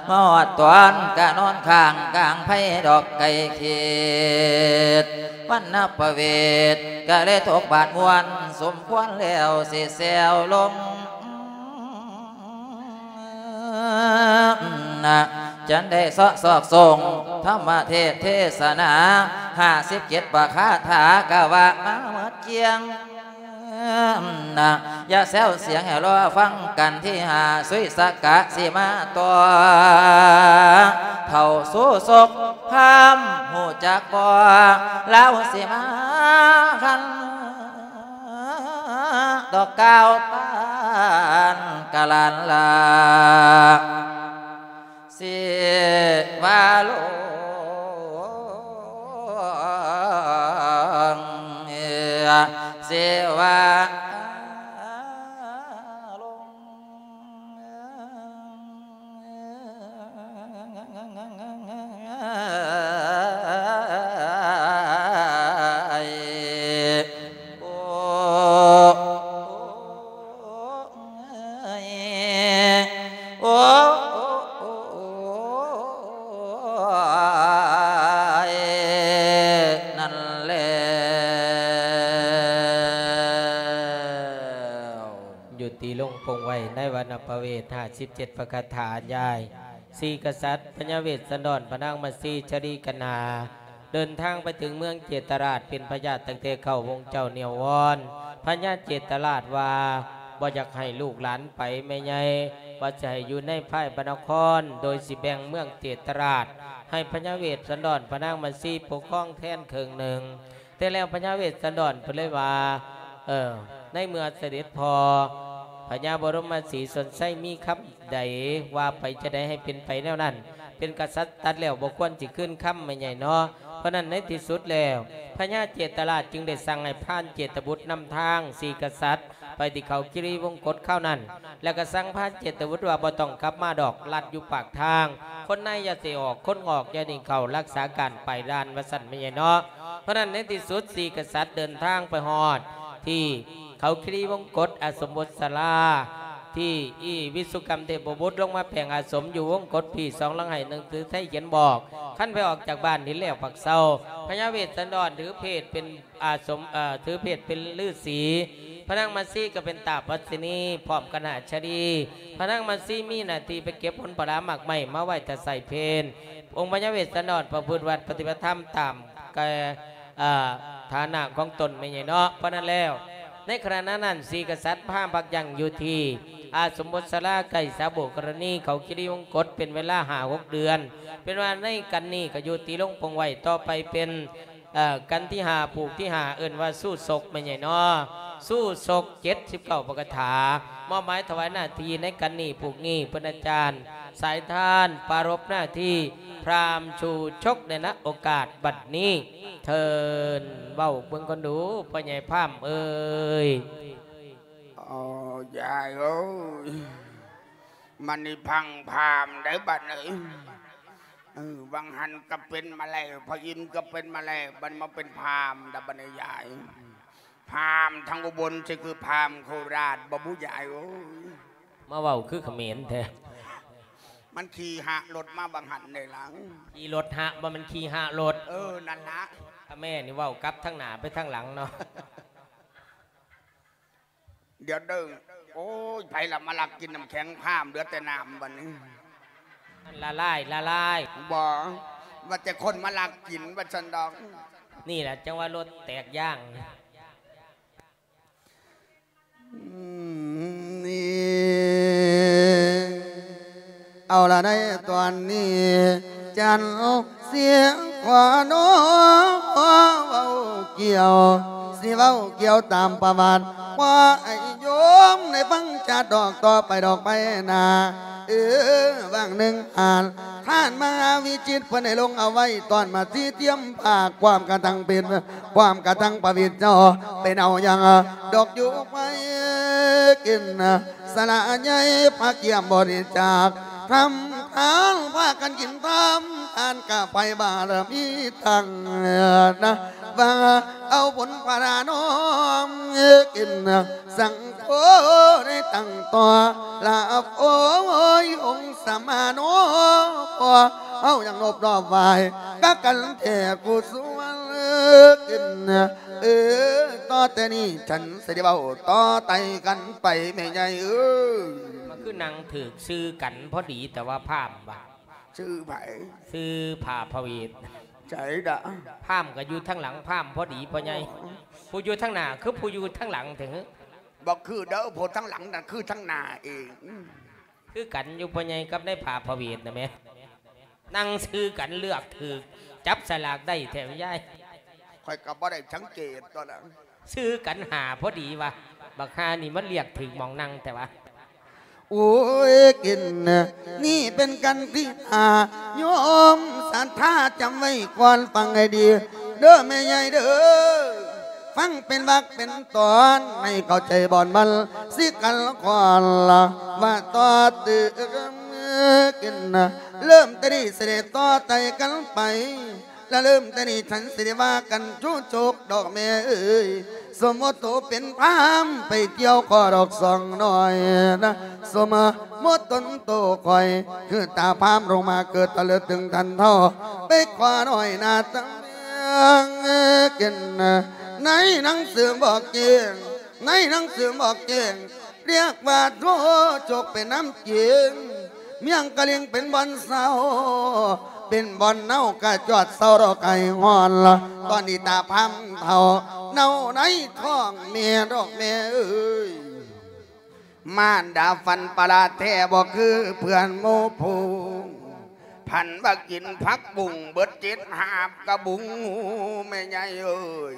ມາຮອດຕອນກະນອນຄ້າງກາງໄພດອກໄກ່ເຂດ ວັນນະປະເວດ ກະເລີຍຕົກບາດມ່ວນສົມຄວນແລ້ວຊິແຊວລົງ ນະ ຈັນໄດ້ເຊາະຊອກສົ່ງທຳມະເທດເທສະໜາ ຫ້າສິບເຈັດປະຄາຖາກະວ່າມາໝົດກ້ຽງ ນະ ຢ່າແຊວສຽງໃຫ້ລໍຟັງກັນທີຫ້າ ສຸຍສະກະຊິມາຕໍ່ ເຖົ້າສຸສົກພາມຮູ້ຈັກບໍ່ ລາວຊິມາຄັນ ດອກກ່າວຕ້ານກະລານລາ ເສວາລົງ ເສວາລົງ ໂອ້ ໂອ້ ໂອ້ ໂອ້ ນັ້ນແລ້ວ ຍຸຕິລົງປົງໄວ້ໃນວັນນະປະເວດ ຫ້າສິບເຈັດປະຄາຖາ ຍາຍ ສີ່ກະສັດ ພະຍາເວດສັນດອນ ພະນາງມາສີ ຊະລີກັນຫາ ເດີນທາງໄປເຖິງເມືອງເຈດຕະລາດ ເປັນພະຍາດຕັ້ງແຕ່ເກົ້າໂມງເຊົ້າ ໜຽວວອນພະຍາເຈດຕະລາດວ່າ ບໍ່ຢາກໃຫ້ລູກຫຼານໄປ ແມ່ໃຫຍ່ວ່າຊິໃຫ້ຢູ່ໃນພາຍພະນະຄອນ ໂດຍຊິແບ່ງເມືອງເຈດຕະລາດ ໃຫ້ພະຍາເວດສັນດອນ ພະນາງມາສີ ປົກຄອງແທນເຄິ່ງໜຶ່ງ. ແຕ່ແລ້ວພະຍາເວດສັນດອນເພິ່ນເລີຍວ່າ ເອີ ໃນເມື່ອສະເດັດພໍ່ພະຍາບໍລົມມະສີຊົນໄຊມີຄຳໃດ ວ່າໄປຈະໄດ້ໃຫ້ເປັນໄປແນວນັ້ນ ເປັນກະສັດຕັດແລ້ວບໍ່ຄວນຊິຄືນຄຳ ແມ່ໃຫຍ່ເນາະ. ເພາະນັ້ນໃນທີ່ສຸດແລ້ວ ພະຍາເຈດຕະລາດຈຶ່ງໄດ້ສັ່ງໃຫ້ພານເຈດຕະບຸດນຳທາງສີ່ກະສັດ ໄປທີ່ເຂົາຄີຣີວົງກົດຄາວນັ້ນ ແລ້ວກໍສັ່ງພານເຈດຕະບຸດວ່າ ບໍ່ຕ້ອງກັບມາດອກ ລັດຢູ່ປາກທາງ ຄົນໃນຢ່າຊິອອກ ຄົນນອກຢ່າຊິເຂົ້າ ລັກສາການປ້າຍດ່ານ ວ່າຊັ້ນແມ່ໃຫຍ່ເນາະ. ເພາະນັ້ນໃນທີ່ສຸດ ສີ່ກະສັດເດີນທາງໄປຮອດທີ່ເຂົາຄີຣີວົງກົດ ອາສົມບົດສາລາ ທີ່ອີ່ວິສຸກຳເທບບຸດລົງມາແປງອາສົມຢູ່ວົງກົດ ພີ້ສອງຫຼັງໄຮ່ໜັງສືໄທຂຽນບອກ ຄັນໄປອອກຈາກບ້ານນີ້ແລ້ວປາກເຊົາ ພະຍາເວດສັນດອນຖືເພດເປັນ ອາສົມ ເອີ ຖືເພດເປັນລືສີ ພະນາງມາສີກໍເປັນຕາປັດສິນີ ພ້ອມຄະນະຊະລີ. ພະນາງມາສີມີໜ້າທີ່ໄປເກັບຜົນຜະລາໝາກໄມ້ມາໄວ້ຖ້າໃຊ້ເພນ ອົງພະຍາເວດສັນດອນປະພຶດວັດປະຕິບັດທຳຕາມກະ ເອີ ຖານະຂອງຕົນແມ່ໃຫຍ່ເນາະ. ເພາະນັ້ນແລ້ວ ໃນຂະນະນັ້ນ ສີ່ກະສັດພາພັກຢັ້ງຢູ່ທີ່ອາສົມບົດສາລາ ໃກ້ສາໂບກະລະນີ ເຂົາຄີຣີວົງກົດ ເປັນເວລາຫ້າຫົກເດືອນ. ເປັນວ່າໃນກັນນີ້ກໍຍຸຕິລົງປົງໄວ້ ຕໍ່ໄປເປັນ ເອີ ກັນທີຫ້າ ຜູກທີຫ້າ ເອີ້ນວ່າສູ້ສົກແມ່ໃຫຍ່ເນາະ. ສູ້ສົກເຈັດສິບເກົ້າປະຄາຖາ ມອບໝາຍຖວາຍໜ້າທີ່ໃນກັນນີ້ຜູກນີ້ ເປັນອາຈານສາຍທານປາລົບໜ້າທີ່ພຣາມຊູຊົກໃນນະໂອກາດບັດນີ້ ເທີນເວົ້າເບິ່ງກ່ອນດູ ພໍ່ໃຫຍ່ພາມເອີຍ. ໂອ້ ຍາຍເອີຍ ມັນນີ້ພັງພາມໄດ໋ບັດນີ້. ເອີ ຫວ່າງຫັ້ນກໍເປັນມາແລ້ວ ພະອິນກໍເປັນມາແລ້ວ ບັດມາເປັນພາມດະບັດນີ້ຍາຍ. ພາມທາງອຸບົນຊິຄືພາມໂຄລາດບໍ່ບຸຍາຍເອີຍ. ມາເວົ້າຄືຂະເໝນແທ້. ມັນຂີ່ຫະລົດມາຫວ່າງຫັ້ນເດ້ລະ. ຂີ່ລົດຫະ ບໍ່ແມ່ນຂີ່ຫະລົດ. ເອີ ນັ້ນລະ. ອາ ແມ່ນີ້ເວົ້າກັບທາງໜ້າໄປທາງຫຼັງເນາະ. ດຽວເດີ ໂອ້ຍ ໃຜລະມາລັກກິນນ້ຳແຂງພາມ ເຫຼືອແຕ່ນ້ຳບັດນີ້. ມັນລະລາຍ ລະລາຍ. ບໍ່ ວ່າແຕ່ຄົນມາລັກກິນ ວ່າຊັ້ນດອກ. ນີ້ແຫຼະ ຈັ່ງວ່າລົດແຕກຢາງ. ອືມ ນີ້ ເອົາລະ ໃນຕອນນີ້ ຈັນສຽງຂໍນອເວົ້າກ່ຽວ ຊິເວົ້າກ່ຽວຕາມປະຫວັດ ຂໍໃຫ້ໂຍມໄດ້ຟັງຈາດອກຕໍ່ໄປດອກໄປໜ້າ. ເອີ ຫວ່າງໜຶ່ງອານ ທ່ານມະຫາວິຈິດ ເພິ່ນໄດ້ລົງເອົາໄວ້ ຕອນມາຊີຕຽມພາກ ຄວາມກະທັງເປັນ ຄວາມກະທັງປະວິດເຈົ້າ ເປັນເອົາຫຍັງດອກຢູ່ໄປກິນ ສະຫຼະໃຫຍ່ພາກຽມບໍລິຈາກ ທຳທານພາກັນກິນ ທຳທານກະໄພບາລະມີຕັ້ງນະ ວ່າເອົາບຸນພາລານ້ອມກິນ ສັງໂຄໄດ້ຕັ້ງຕໍ່ລາບ ໂອ້ຍ ອົງສະມາໂນ ເຮົາຍັງນົບນອບໄຫວ້ກະກັນແທ້ຜູ້ສວນກິນ ເອີ ຕໍ່ແຕ່ນີ້ ສັນຊິໄດ້ເວົ້າຕໍ່ໄຕ່ກັນໄປແມ່ໃຫຍ່ເອີຍ. ມັນຄືນັ່ງຖືກຊື່ກັນພໍດີ ແຕ່ວ່າພາມວ່າ ຊື່ໃຜ? ຊື່ພາພະເວດ. ໃສດະ? ພາມກໍຢູ່ທາງຫຼັງພາມພໍດີພໍ່ໃຫຍ່. ອໍ ຜູ້ຢູ່ທາງໜ້າຄືຜູ້ຢູ່ທາງຫຼັງແທ້? ບໍ່ຄືເດີ ຜູ້ທາງຫຼັງນັ້ນຄືທາງໜ້າເອງ. ຄືກັນຢູ່ພໍ່ໃຫຍ່ກັບນາຍພາພະເວດນະແມ. ນັ່ງຊື່ກັນເລືອກຖືກ ຈັບສະຫຼາກໄດ້ແທ້ຍາຍ. ຂ້ອຍກໍບໍ່ໄດ້ສັງເກດຕົວະນະ. ຊື່ກັນຫ້າພໍດີວ່າ ບັກຫ່ານີ້ມັນເລືອກຖືກໝ່ອງນັ່ງແທ້ວະ. ໂອ້ຍ ກິນ ນີ້ເປັນກັນທີຫ້າ ໂຍມສັດທາຈຳໄວ້ກ່ອນ ຟັງໃຫ້ດີເດີແມ່ໃຫຍ່ເດີ. ຟັງເປັນວັກເປັນຕອນ ໃຫ້ເຂົ້າໃຈບ່ອນມັນ ຊິກັນກ່ອນລະວ່າຕໍ່ຕື່ມ ກິນ ເລີ່ມແຕ່ນີ້ຊິໄດ້ຕໍ່ໄຕ່ກັນໄປ ລະເລີ່ມແຕ່ນີ້ ສັນຊິໄດ້ວ່າກັນຈູ້ໂຈກດອກແມ່ເອີຍ. ສົມມຸດໂຕເປັນພາມໄປທ່ຽວຂໍດອກສອງໜ້ອຍນະ ສົມມຸດຕົນໂຕຂ້ອຍ ຄືຕາພາມລົງມາເກີດຕະເລີດຕຶງທັນເທົ່າ ໄປຂໍໜ້ອຍໜ້າຕາເມືອງກິນ ໃນໜັງສືບອກແຈ້ງ ໃນໜັງສືບອກແຈ້ງ ລຽກວ່າໂທໂຈກເປັນນຳເກງ ມຽງກະລິງເປັນບ່ອນເຊົາ ເປັນບ່ອນເນົາກະຈອດເຊົາດອກໄຫ້ຮ້ອນລະ ຕອນນີ້ຕາພາມເຖົ້າເນົາໃນທ້ອງແມ່ດອກແມ່ເອີຍ. ມານດາຝັນປະຫຼາດແທ້ບໍ່ຄືເພື່ອນໝູ່ຝູງ ຝັນວ່າກິນຜັກບຸ້ງເບິດເຈັດຫາບກະບຸງ ແມ່ໃຫຍ່ເອີຍ.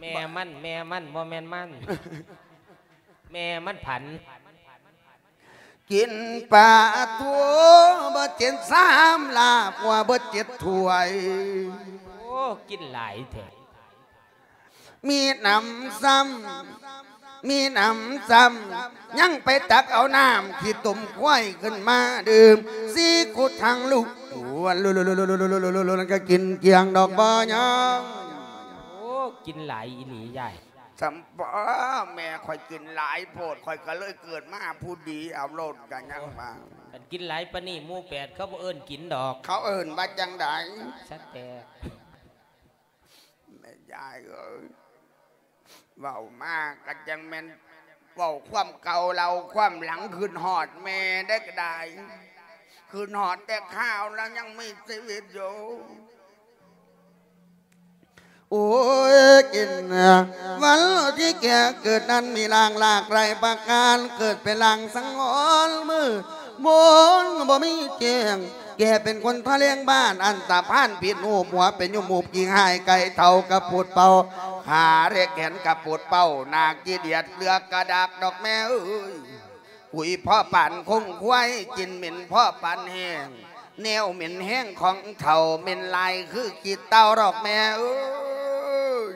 ແມ່ມັນ ແມ່ມັນ ບໍ່ແມ່ນມັນ ແມ່ມັນຝັນ ກິນປາທູເບິດເຈັດຊາມ ລາບງົວເບິດເຈັດຖ້ວຍ. ໂອ້ ກິນຫຼາຍແທ້. ມີໜຳຊ້ຳ ມີໜຳຊ້ຳ ຍັງໄປຕັກເອົານ້ຳຂີ້ຕົມຄວາຍຂຶ້ນມາດື່ມ ຊີຂຸດທັງລູກ ນັ້ນກະກິນກ້ຽງດອກບໍ່ຍັງ. ໂອ້ ກິນຫຼາຍອີ່ຫຼີຍາຍ. ສຳປະ ແມ່ຂ້ອຍກິນຫຼາຍໂພດ ຂ້ອຍກະເລີຍເກີດມາຜູ້ດີເອົາໂລດ ກະຍັງວ່າ ຄັນກິນຫຼາຍປານນີ້ໝູ່ແປດເຂົາບໍ່ເອີ້ນກິນດອກ ເຂົາເອີ້ນວ່າຈັ່ງໃດ? ສະແຕກ. ແມ່ຍາຍເອີຍ ເວົ້າມາກະຈັ່ງແມ່ນເວົ້າຄວາມເກົ່າເລົ່າຄວາມຫຼັງ ຄຶດຮອດແມ່ໄດ້ກະດາຍ ຄຶດຮອດແຕ່ຄາວລາວຍັງມີຊີວິດຢູ່. ໂອ້ຍ ກິນ ວັນທີ່ແກ່ເກີດນັ້ນມີລ່າງຫຼາກຫຼາຍປະການ ເກີດເປັນລ່າງສັງຫອນມື ມົນບໍ່ມີແຈ້ງ ແກ່ເປັນຄົນທະແລງບ້ານ ອັນຕະພານຜິດຮູບ ຫົວເປັນຍຸມໝູບ ກິງຫາຍໄກ່ເຖົ້າກະປູດເປົ່າ ຂາແລະແຂນກະປູດເປົ່າ ໜ້າຂີ້ດຽດເຫຼືອກະດາກດອກແມ່ເອີຍ. ກຸຍພໍປານຄົງຄວາຍ ກິ່ນເໝັນພໍປານແຫ້ງ ແນວເໝັນແຮງຂອງເຖົ້າ ເໝັນຫຼາຍຄືຂີ້ເຕົ່າດອກແມ່ເອີຍ.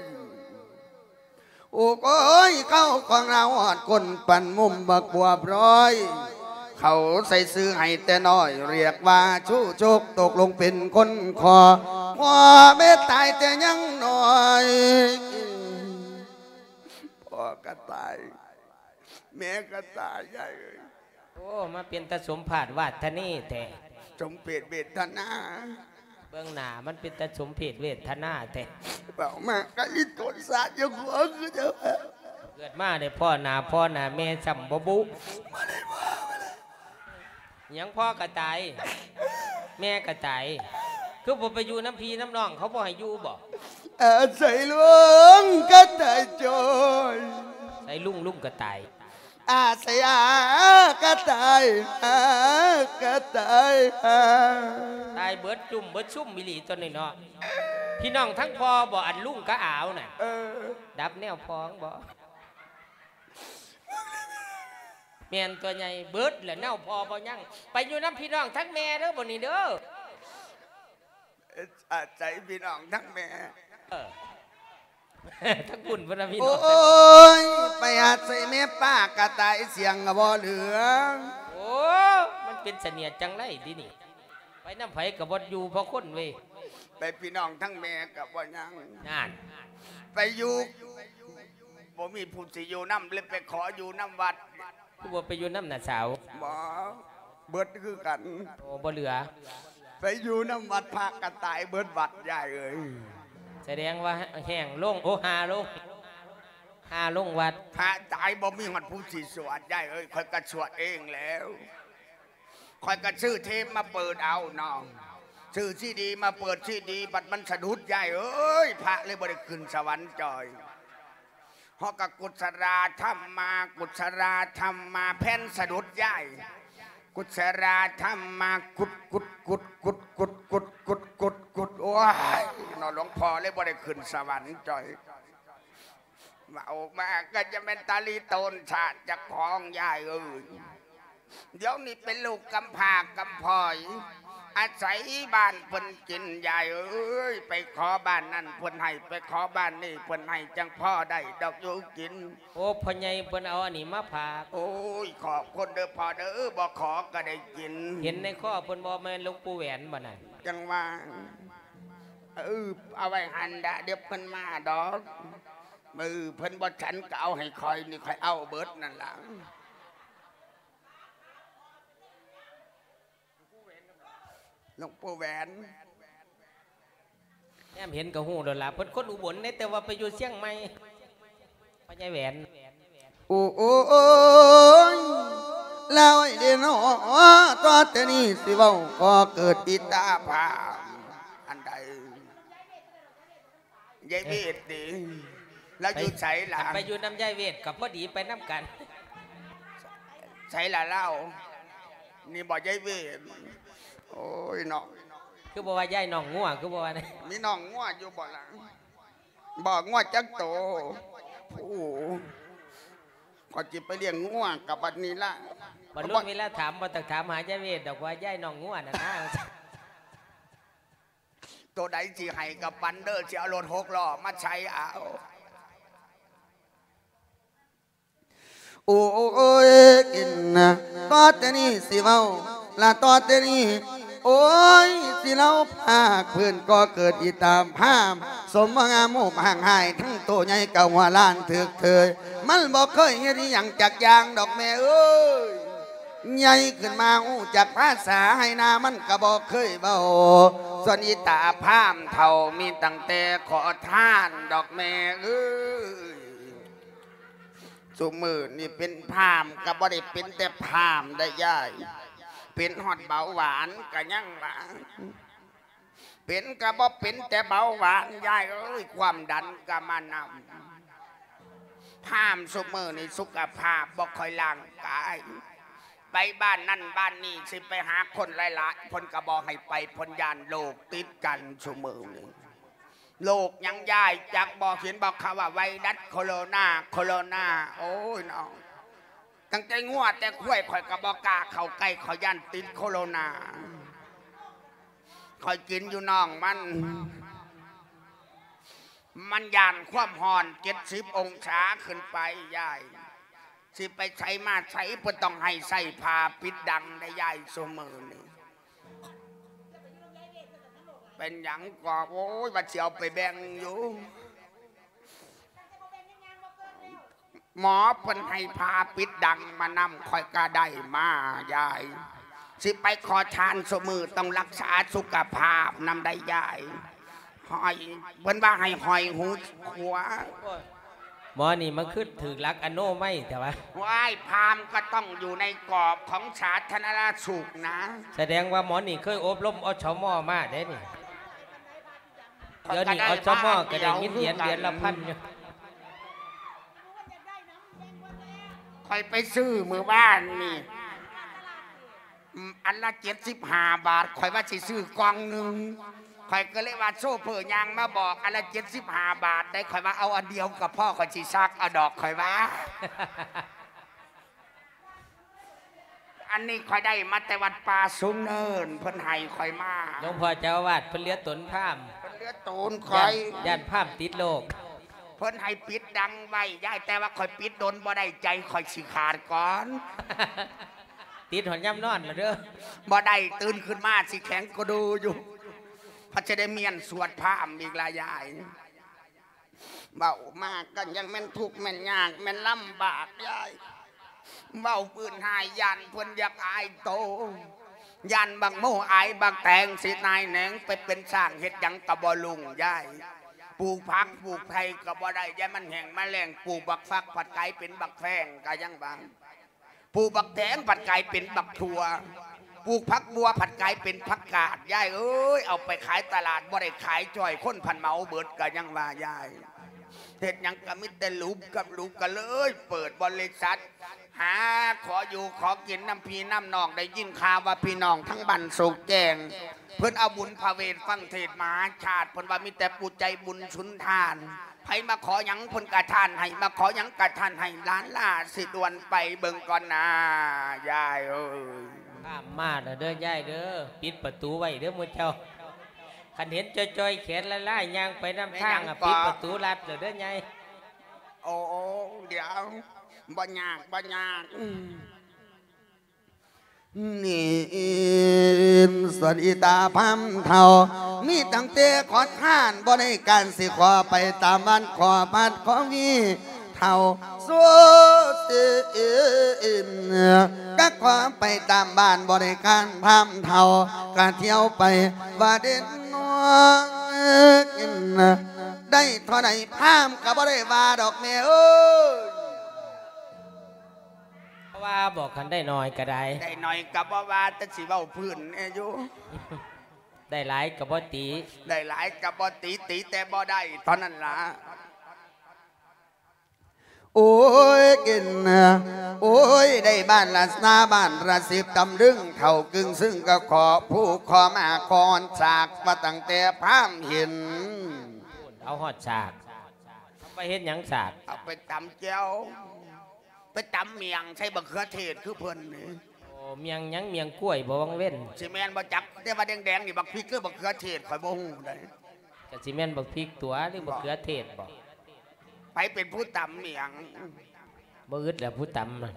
ໂອ້ໂອ້ຍ ເຂົ້າຂອງລາວຮອດກົ້ນປັນມຸມບັກບົວບຣອຍ ເຂົາໃສ່ຊື່ໃຫ້ແຕ່ນ້ອຍ ລຽກວ່າຊູ່ໂຈກ ຕົກລົງເປັນຄົນຂໍ ພໍ່ແມ່ຕາຍແຕ່ຍັງນ້ອຍ ພໍ່ກະຕາຍ ແມ່ກະຕາຍ ຍາຍເອີຍ. ໂອ້ ມາເປັນຕາສົມພາດວາດທະນີແທ້ ສົມເພດເວດທະນາ ເບິ່ງໜ້າມັນເປັນຕາສົມເພດເວດທະນາແທ້. ເວົ້າມາກະລິໂຕນສາດຢູ່ຫົວຄືເຈົ້າ ເກີດມາໄດ້ພໍ້ໜ້າພໍ່ໜ້າແມ່ຊ້ຳບໍ່ບຸ ບໍ່ໄດ້ພໍ້ ຫຍັງພໍ່ກະຕາຍ ແມ່ກະຕາຍ ຄືບໍ່ໄປຢູ່ນຳພີ່ນຳນ້ອງ ເຂົາບໍ່ໃຫ້ຢູ່ບໍ? ອາໄສລຸງກະຕາຍຈ້ອຍ ໃສລຸງ ລຸງກະຕາຍ ອາໄສອາກະຕາຍ ອາກະຕາຍ ອາ ຕາຍເບິດຈຸ້ມເບິດຊຸມອີ່ຫຼີຕົວນີ້ເນາະ. ພີ່ນ້ອງທັງພໍ່ບໍ ອັນລຸງກະອາວນະ ເອີ ດັບແນວພ້ອງບໍ? ແມ່ນຕົວໃຫຍ່ເບິດແຫຼະ ແນວພໍ່ບໍ່ຍັງ ໄປຢູ່ນຳພີ່ນ້ອງທັງແມ່ເດີ ບໍ່ນີ້ເດີ ອາໄສພີ່ນ້ອງທັງແມ່ ເອີ ທັງບຸນພຸ້ນນະພີ່ນ້ອງ ໂອ້ຍ ໄປອາໄສແມ່ປ້າກະຕາຍ ສຽງກະບໍ່ເຫຼືອ ໂອ້ ມັນເປັນສະເໜຽດຈັ່ງໃດຕິນີ້. ໄປນຳໃຜກໍບໍ່ຢູ່ພໍຄົນເວີຍ. ໄປພີ່ນ້ອງທັງແມ່ກໍບໍ່ຍັງ. ນັ້ນ. ໄປຢູ່ ບໍ່ມີຜູ້ຊິຢູ່ນຳ ເລີຍໄປຂໍຢູ່ນຳວັດ. ຄືບໍ່ໄປຢູ່ນຳນ້າສາວ? ບໍ່ ເບິດຄືກັນ. ໂອ້ ບໍ່ເຫຼືອ. ໄປຢູ່ນຳວັດພະກໍຕາຍເບິດວັດ ຍາຍເອີຍ. ສະແດງວ່າແຫ້ງລົງ ໂອ້ ຫ່າລົງ ຫ່າລົງວັດ. ພະຕາຍບໍ່ມີຮອດຜູ້ຊິສວດ ຍາຍເອີຍ. ຂ້ອຍກໍສວດເອງແລ້ວ. ຂ້ອຍກໍຊື້ເທບມາເປີດເອົາເນາະ ຊື້ຊີດີມາເປີດຊີດີ ບັດມັນສະດຸດ ຍາຍເອີຍ. ພະເລີຍບໍ່ໄດ້ຂຶ້ນສະຫວັນຈ້ອຍ. ເຮົາກໍກຸສລາທຳມາ ກຸສລາທຳມາ ແຜ່ນສະດຸດ ຍາຍ. ກຸສລາທຳມາ ກຸດ ກຸດ ກຸດ ໂອ້ຍເນາະ ຫຼວງພໍ່ເລີຍບໍ່ໄດ້ຂຶ້ນສະຫວັນຈ້ອຍ. ເວົ້າມາກໍຈະແມ່ນຕາລີໂຕນຊາດເຈົ້າຂອງ ຍາຍເອີຍ. ດຽວນີ້ເປັນລູກກຳພ້າກຳພ້ອຍ ອາໄສບ້ານເພິ່ນກິນ ຍາຍເອີຍ. ໄປຂໍບ້ານນັ້ນເພິ່ນໃຫ້ ໄປຂໍບ້ານນີ້ເພິ່ນໃຫ້ ຈັ່ງພໍໄດ້ດອກຢູ່ກິນ. ໂອ້ ພໍ່ໃຫຍ່ເພິ່ນເອົາອັນນີ້ມາຝາກ. ໂອ້ຍ ຂອບຄຸນເດີພໍ່ເດີ ບໍ່ຂໍກໍໄດ້ກິນ. ເຫັນໃນຄໍເພິ່ນບໍ່ ແມ່ນຫຼວງປູ່ແຫວນບໍ່ນັ້ນ? ຈັ່ງວ່າ ເອີ ເອົາໄວ້ຫັ້ນລະ ດຽວເພິ່ນມາດອກ. ມື້ເພິ່ນບໍ່ສັນກໍເອົາໃຫ້ຂ້ອຍນີ້ ຂ້ອຍເອົາເບິດນັ້ນລະ. ຫຼວງປູ່ແຫວນ ແນມເຫັນກໍຮູ້ໂລດລະ ເພິ່ນຄົນອຸບົນເດ້ ແຕ່ວ່າໄປຢູ່ຊຽງໃໝ່. ພໍ່ໃຫຍ່ແຫວນ. ໂອ້ ໂອ້ ໂອ້ຍ ລາວເອີຍເດເນາະ ຕໍ່ແຕ່ນີ້ຊິເວົ້າກໍເກີດອິດຕາພາມ. ອັນໃດ? ຍາຍເວດຕິ ລາວຢູ່ໃສລະ? ໄປຢູ່ນຳຍາຍເວດກໍພໍດີໄປນຳກັນ. ໃສລະລາວ? ນີ້ບໍ່ຍາຍເວດ? ໂອ້ຍເນາະ ຄືບໍ່ວ່າຍາຍນ້ອງງົວ ຄືບໍ່ວ່າ? ມີນ້ອງງົວຢູ່ບໍ່ລະ? ບໍ່ ງົວຈັກໂຕ? ໂອ້ ຂ້ອຍຊິໄປລ້ຽງງົວກັບບັດນີ້ລະ. ບັດລຸງເວລາຖາມ ບໍ່ຕ້ອງຖາມຫາຍາຍເວດດອກ ວ່າຍາຍນ້ອງງົວນັ້ນນາ. ໂຕໃດຊິໃຫ້ກໍປັນເດີ ຊິເອົາລົດຫົກລໍ້ມາໃສ່ເອົາ. ໂອ້ຍ ກິນນະ ຕໍ່ແຕ່ນີ້ຊິເວົ້າລະ ຕໍ່ແຕ່ນີ້ ໂອ້ຍ ຊິເລົ່າພາກພື້ນກໍເກີດອີຕາມພາມ ສົມບໍ່ງາມຮູບຮ່າງຮ້າຍ ທັງໂຕໃຫຍ່ກະຫົວລ້ານຖືກເທີຍ ມັນບໍ່ເຄີຍເຮັດອີ່ຫຍັງຈັກຢ່າງດອກແມ່ເອີຍ. ໃຫຍ່ຂຶ້ນມາຮູ້ຈັກພາສາໄຮ່ນາມັນກໍບໍ່ເຄີຍເວົ້າ ສ່ວນອີຕາພາມເຖົ້າມີຕັ້ງແຕ່ຂໍທານດອກແມ່ເອີຍ. ຊຸມື້ນີ້ເປັນພາມກໍບໍ່ໄດ້ເປັນແຕ່ພາມໄດ໋ຍາຍ ເປັນຮອດເບົາຫວານກໍຍັງວ່າ ເປັນກໍບໍ່ເປັນແຕ່ເບົາຫວານ ຍາຍເອີຍ ຄວາມດັນກໍມານຳ. ພາມຊຸມື້ນີ້ສຸຂະພາບບໍ່ຄ່ອຍຮ່າງກາຍ ໄປບ້ານນັ້ນບ້ານນີ້ ຊິໄປຫາຄົນຫຼາຍໆ ເພິ່ນກໍບໍ່ໃຫ້ໄປ ເພິ່ນຢ້ານໂລກຕິດກັນຊຸມື້ນີ້. ໂລກຫຍັງຍາຍ ຈັກບໍ່ ເຫັນບໍ່ ເຂົາວ່າໄວຣັສໂຄໂຣນາ ໂຄໂຣນາ. ໂອ້ຍເນາະ ຕັ້ງແຕ່ງົວແຕ່ຄວາຍ ຂ້ອຍກໍບໍ່ກ້າເຂົ້າໃກ້ ຂ້ອຍຢ້ານຕິດໂຄໂຣນາ. ຂ້ອຍກິນຢູ່ນ້ອງມັນ ມັນຢ້ານຄວາມຮ້ອນ ເຈັດສິບອົງສາຂຶ້ນໄປ ຍາຍ. ຊິໄປໃສມາໃສ ເພິ່ນຕ້ອງໃຫ້ໃສ່ຜ້າປິດດັງໄດ໋ຍາຍ ຊຸມື້ນີ້. ເປັນຫຍັງກໍ ໂອ້ຍ ວ່າຊິເອົາໄປແບ່ງຢູ່. ໝໍເພິ່ນໃຫ້ຜ້າປິດດັງມານຳ ຂ້ອຍກໍໄດ້ມາ ຍາຍ. ຊິໄປຂໍທານຊຸມື້ ຕ້ອງຮັກສາສຸຂະພາບນຳໄດ໋ຍາຍ. ຫ້ອຍ ເພິ່ນວ່າໃຫ້ຫ້ອຍຫູຂວາ. ໝໍນີ້ມັນຄືຖືກຫຼັກອະໂນໄມແທ້ວະ. ວ້າຍ ພາມກໍຕ້ອງຢູ່ໃນກອບຂອງສາທາລະນະສຸກນະ. ສະແດງວ່າໝໍນີ້ເຄີຍອົບຮົມ ອສມ ມາເດ້ນີ້. ດຽວນີ້ ອສມ ກໍໄດ້ຍິນຫຼຽນເດືອນລະພັນຢູ່. ຂ້ອຍໄປຊື້ມື້ວານນີ້ ອັນລະເຈັດສິບຫ້າບາດ ຂ້ອຍວ່າຊິຊື້ກ່ອງໜຶ່ງ ຂ້ອຍກໍເລີຍວ່າໂຊເຟີຍ່າງມາບອກ ອັນລະເຈັດສິບຫ້າບາດໄດ໋ ຂ້ອຍວ່າເອົາອັນດຽວກໍພໍ ຂ້ອຍຊິຊັກເອົາດອກ ຂ້ອຍວ່າ. ອັນນີ້ຂ້ອຍໄດ້ມາແຕ່ວັດປ່າສູງເນີນ ເພິ່ນໃຫ້ຂ້ອຍມາ. ຫຼວງພໍ່ເຈົ້າອາວາດເພິ່ນເຫຼືອຕົນພາມ ເພິ່ນເຫຼືອໂຕນຂ້ອຍ ຢ້ານ ຢ້ານພາມຕິດໂລກ. ເພິ່ນໃຫ້ປິດດັງໄວ້ ຍາຍ ແຕ່ວ່າຂ້ອຍປິດດົນບໍ່ໄດ້ ໃຈຂ້ອຍຊິຂາດກ່ອນ. ຕິດຮອດຍາມນອນລະເດີ. ບໍ່ໄດ້ ຕື່ນຂຶ້ນມາຊິແຂງກະດູຢູ່ ພັດຈະໄດ້ມ້ຽນສວດພາມອີກລະຍາຍ. ເວົ້າມາກໍຍັງແມ່ນທຸກແມ່ນຍາກແມ່ນລຳບາກຍາຍ. ເວົ້າພື້ນຫາຍຢ້ານເພິ່ນຢາກອາຍໂຕ ຢ້ານບັກໂມອາຍບັກແຕງຊິນາຍແໜງໄປເປັນຊ້າງເຮັດຫຍັງກໍບໍ່ລຸ່ງຍາຍ. ປູກຜັກປູກໄຜ່ກໍບໍ່ໄດ້ ຢ້ານມັນແຫ້ງມາແລ້ງ. ປູກບັກຟັກພັດກາຍເປັນບັກແຟງກໍຍັງວ່າ ປູກບັກແຕງພັດກາຍເປັນບັກຖົ່ວ ປູກຜັກບົ່ວພັດກາຍເປັນຜັກກາດ ຍາຍເອີຍ. ເອົາໄປຂາຍຕະຫຼາດບໍ່ໄດ້ຂາຍຈ້ອຍ ຄົນພັດເໝົາເບິດ ກໍຍັງວ່າຍາຍ. ເຮັດຫຍັງກໍມີແຕ່ຫຼຸບກັບຫຼຸບ ກໍເລີຍເປີດບໍລິສັດ ຫາຂໍຢູ່ຂໍກິນນຳພີ່ນຳນ້ອງ. ໄດ້ຍິນຂ່າວວ່າພີ່ນ້ອງທາງບ້ານໂສກແຈ້ງ ເພິ່ນເອົາບຸນພະເວດຟັງເທດມະຫາຊາດ ເພິ່ນວ່າມີແຕ່ຜູ້ໃຈບຸນສຸນທານ. ໃຜມາຂໍຫຍັງເພິ່ນກະທານໃຫ້ ມາຂໍຫຍັງກະທານໃຫ້. ຫຼານຫຼ້າຊິດ່ວນໄປເບິ່ງກ່ອນນາ ຍາຍເອີຍ. ພາມມາແລ້ວເດີຍາຍເດີ ປິດປະຕູໄວ້ເດີໝູ່ເຈົ້າ. ຄັນເຫັນຈ່ອຍໆແຂນລາຍໆຍ່າງໄປນຳທາງ ແມ່ນຫຍັງ ປິດປະຕູລັດແລ້ວເດີຍາຍ. ໂອ້ ດຽວ ບໍ່ຍາກ ບໍ່ຍາກ. ນີ້ ສ່ວນອີຕາພາມເຖົ້າ ມີຕັ້ງແຕ່ຂໍທານ ບໍ່ໄດ້ການ ຊິຂໍໄປຕາມບ້ານ ຂໍພັດຂໍວີເຖົ້າ ໂຊເຊນ ກະຂໍໄປຕາມບ້ານ ບໍ່ໄດ້ການ ພາມເຖົ້າ ກະທ່ຽວໄປວ່າເດັ່ນນ້ອຍ ໄດ້ເທົ່າໃດພາມກະບໍ່ໄດ້ວ່າດອກແມ່ເອີຍ. ບໍ່ວ່າ ບອກຄັນໄດ້ໜ້ອຍກໍໄດ້ ໄດ້ໜ້ອຍກໍບໍ່ວ່າ ແຕ່ຊິເວົ້າພື້ນແດ່ຢູ່ ໄດ້ຫຼາຍກໍບໍ່ຕິ ໄດ້ຫຼາຍກໍບໍ່ຕິ ຕິແຕ່ບໍ່ໄດ້ເທົ່ານັ້ນລະ. ໂອ້ຍ ກິນ ໂອ້ຍ ໄດ້ບ້ານລະຊາ ບ້ານລະສິບຕຳລຶງ ເຖົ້າກຶ່ງຊຶງ ກໍຂໍພູຂໍມາ ຂໍຮອດສາກ ວ່າຕັ້ງແຕ່ພາມເຫັນ ເອົາຮອດສາກ ໄປເຮັດຫຍັງສາກ? ເອົາໄປຕຳແຈ່ວ ໄປຕຳໝ້ຽງໃສ່ບັກເຂືອເທດຄືເພິ່ນນີ້. ໂອ້ ໝ້ຽງຫຍັງ? ໝ້ຽງກ້ວຍບໍ່ວັງເວັນ? ຊິແມ່ນບໍ່ຈັກ ແຕ່ວ່າແດງໆນີ້ບັກພິກ ຫຼື ບັກເຂືອເທດ ຂ້ອຍບໍ່ຮູ້ໃດ໋. ກະຊິແມ່ນບັກພິກຕົວະ ຫຼື ບັກເຂືອເທດບໍ? ໃຜເປັນຜູ້ຕຳໝ້ຽງ? ບໍ່ອຶດແລ້ວຜູ້ຕຳນະ.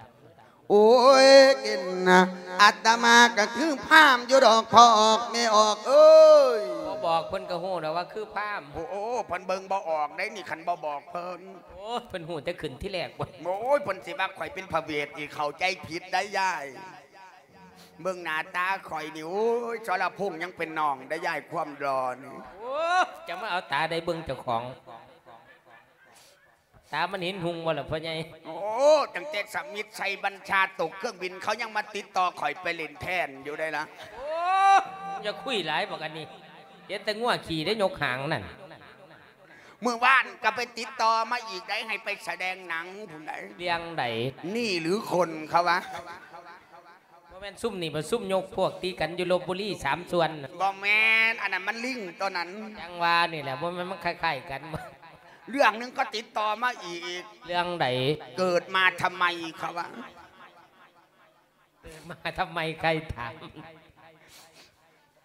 ໂອ້ຍ ກິນນະ ອາດຕະມາກໍຄືພາມຢູ່ດອກ ພໍ່ອອກແມ່ອອກເອີຍ. ບໍ່ບອກເພິ່ນກໍຮູ້ແລ້ວວ່າຄືພາມ. ໂອ້ ເພິ່ນເບິ່ງບໍ່ອອກໄດ໋ນີ້ ຄັນບໍ່ບອກເພິ່ນ. ໂອ້ ເພິ່ນຮູ້ແຕ່ຂຶ້ນທີແລກພຸ້ນ. ໂອ້ຍ ເພິ່ນຊິວ່າຂ້ອຍເປັນພະເວດອີກ ເຂົ້າໃຈຜິດໄດ໋ຍາຍ. ເບິ່ງໜ້າຕາຂ້ອຍນີ້ ໂອ້ຍ ສະລະພົງຍັງເປັນນ້ອງໄດ໋ຍາຍ ຄວາມຫຼໍ່ນີ້. ໂອ້ ຈະມາເອົາຕາໃດເບິ່ງເຈົ້າຂອງ. ຕາມັນເຫັນຮຸ່ງບໍ່ລະພໍ່ໃຫຍ່? ໂອ້ ຕັ້ງແຕ່ສະມິດໄຊບັນຊາຕົກເຄື່ອງບິນ ເຂົາຍັງມາຕິດຕໍ່ຂ້ອຍໄປຫຼິ້ນແທນຢູ່ໄດ໋ລະ. ໂອ້ ຢ່າຄຸຍຫຼາຍບັກອັນນີ້ ເຫັນແຕ່ງົວຂີ່ໄດ້ຍົກຫາງນັ້ນ. ມື້ວານກໍໄປຕິດຕໍ່ມາອີກໄດ໋ ໃຫ້ໄປສະແດງໜັງພຸ້ນໄດ໋. ເລື່ອງໃດ? ນີ້ຫຼືຄົນເຂົາວ່າ. ບໍ່ແມ່ນຊຸມນີ້ບໍ່ ຊຸມຍົກພວກຕີກັນຢູ່ລົບບຸລີສາມສ່ວນ. ບໍ່ແມ່ນ ອັນນັ້ນມັນລິງໂຕນັ້ນ. ຈັ່ງວ່ານີ້ແຫຼະ ບໍ່ແມ່ນມັນຄ້າຍໆກັນບໍ? ເລື່ອງໜຶ່ງກໍຕິດຕໍ່ມາອີກ. ເລື່ອງໃດ? ເກີດມາທຳໄມ ເຂົາວ່າ. ເກີດມາທຳໄມ ໃຄຖາມ.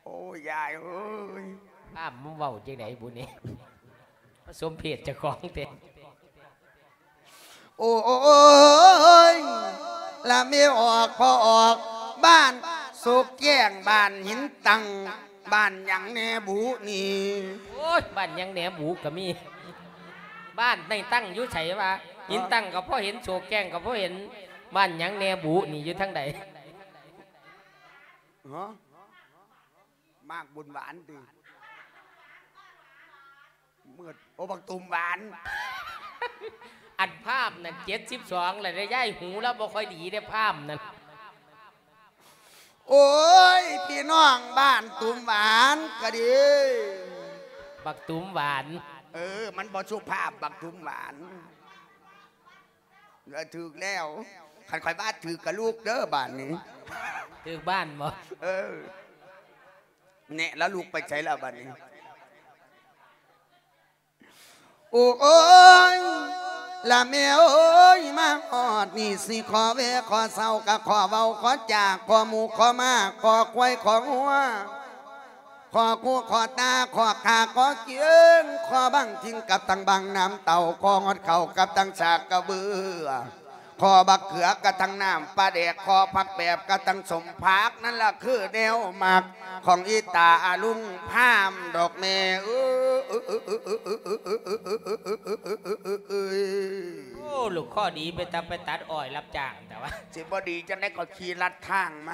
ໂອ້ຍ ຍາຍເອີຍ ພາມມາເວົ້າຈັ່ງໃດບຸນີ້ ມາສົມເພດເຈົ້າຂອງແທ້. ໂອ້ຍ ລະແມ່ອອກ ພໍ່ອອກ ບ້ານໂສກແກ້ງ ບ້ານຫີນຕັ້ງ ບ້ານຫຍັງແດ່ບຸນີ້? ໂອ້ຍ ບ້ານຫຍັງແດ່ບຸກໍມີ. ບ້ານໃນຕັ້ງຢູ່ໃສວະ? ຫີນຕັ້ງກໍພໍເຫັນ ໂສກແກ້ງກໍພໍເຫັນ ບ້ານຫຍັງແດ່ບຸນີ້ຢູ່ທາງໃດ? ຮະ? ໝາກບຸນຫວານຕິ ມືດ. ໂອ້ ບັກຕຸ່ມຫວານ. ອັນພາມນັ້ນເຈັດສິບສອງແລ້ວເດ້ຍາຍ ຫູລາວບໍ່ຄ່ອຍດີເດ້ພາມນັ້ນ. ໂອ້ຍ ພີ່ນ້ອງບ້ານຕຸ່ມຫວານກະດີ. ບັກຕຸ່ມຫວານ. ເອີ ມັນບໍ່ສຸພາບ ບັກຕຸ່ມຫວານ. ເອີ ຖືກແລ້ວ ຄັນຂ້ອຍວ່າຖືກກະລູກເດີບາດນີ້. ຖືກບ້ານບໍ? ເອີ ແນະ ລະລູກໄປໃສລະບາດນີ້? ໂອ້ຍ ລະແມ່ເອີຍ ມາຮອດນີ້ ຊິຂໍແວ່ຂໍເຊົາ ກະຂໍເວົ້າຂໍຈາ ຂໍໝູ ຂໍໝາ ຂໍຄວາຍ ຂໍງົວ ຂໍຄູ ຂໍຕາ ຂໍຂ້າ ຂໍກຽງ ຂໍບັງທິງກັບທັງບັງນ້ຳເຕົ້າ ຂໍຮອດເຂົ້າກັບທັງສາກກະເບືອ ຂໍບັກເຂືອກະທັງນ້ຳປາແດກ ຂໍຜັກແບບກະທັງສົ້ມຜັກ ນັ້ນລະຄືແນວມັກຂອງອີຕາອາລຸງພາມດອກແມ່ເອີຍ. ໂອ້ ລູກຄໍດີ ເປັນຕາໄປຕັດອ້ອຍຮັບຈ້າງແຕ່ວ່າ ຊິບໍ່ດີຈັ່ງໃດ ກໍຂີ່ລັດທາງມາ